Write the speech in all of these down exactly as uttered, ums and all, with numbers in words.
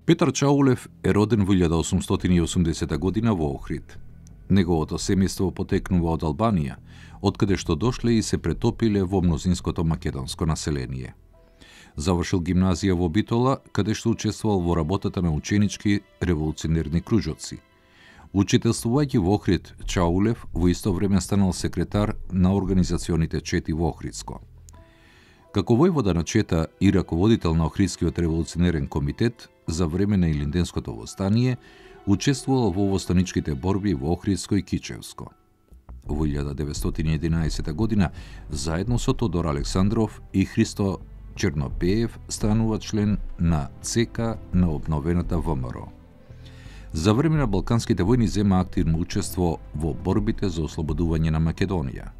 Петар Чаулев е роден во илјада осумстотини и осумдесета година во Охрид. Неговото семејство потекнува од Албанија, откаде што дошле и се претопиле во мнозинското македонско население. Завршил гимназија во Битола, каде што учествувал во работата на ученички револуционерни кружоци. Учителствувајќи во Охрид, Чаулев во исто време станал секретар на организационите чети во Охридско. Како војвода на Чета и раководител на Охридскиот револуционерен комитет за време на Илинденското востание, учествувал во востаничките борби во Охридско и Кичевско. Во илјада деветстотини и единаесета година, заедно со Тодор Александров и Христо Чернопеев, станува член на ЦК на обновената ВМРО. За време на Балканските војни зема активно учество во борбите за ослободување на Македонија.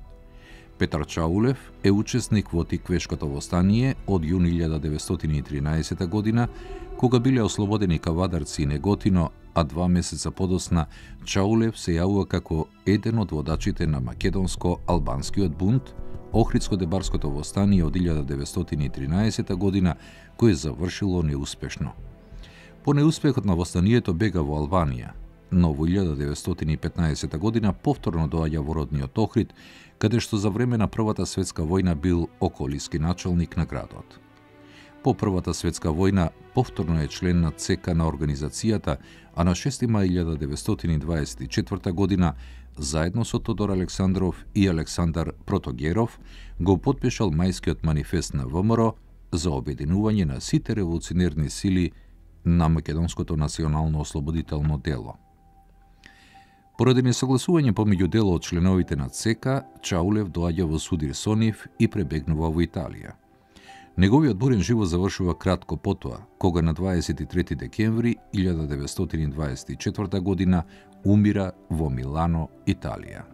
Петар Чаулев е учесник во Тиквешкото востание од јуни илјада деветстотини и тринаесета година, кога биле ослободени Кавадарци и Неготино, а два месеца подосна Чаулев се јавува како еден од водачите на македонско-албанскиот бунт, Охридско-Дебарското востание од илјада деветстотини и тринаесета година, кој завршило неуспешно. По неуспехот на востанието бега во Албанија, но во илјада деветстотини и петнаесета година повторно доаѓа во родниот Охрид, каде што за време на Првата светска војна бил околиски началник на градот. По Првата светска војна повторно е член на ЦК на организацијата, а на шести мај илјада деветстотини дваесет и четврта година, заедно со Тодор Александров и Александар Протогеров, го потпишал мајскиот манифест на ВМРО за обединување на сите револуционерни сили на македонското национално ослободително дело. Поради несогласување помеѓу дело од членовите на ЦК, Чаулев доаѓа во Судир Сонив и пребегнува во Италија. Неговиот бурен живот завршува кратко потоа, кога на дваесет и трети декември илјада деветстотини дваесет и четврта година умира во Милано, Италија.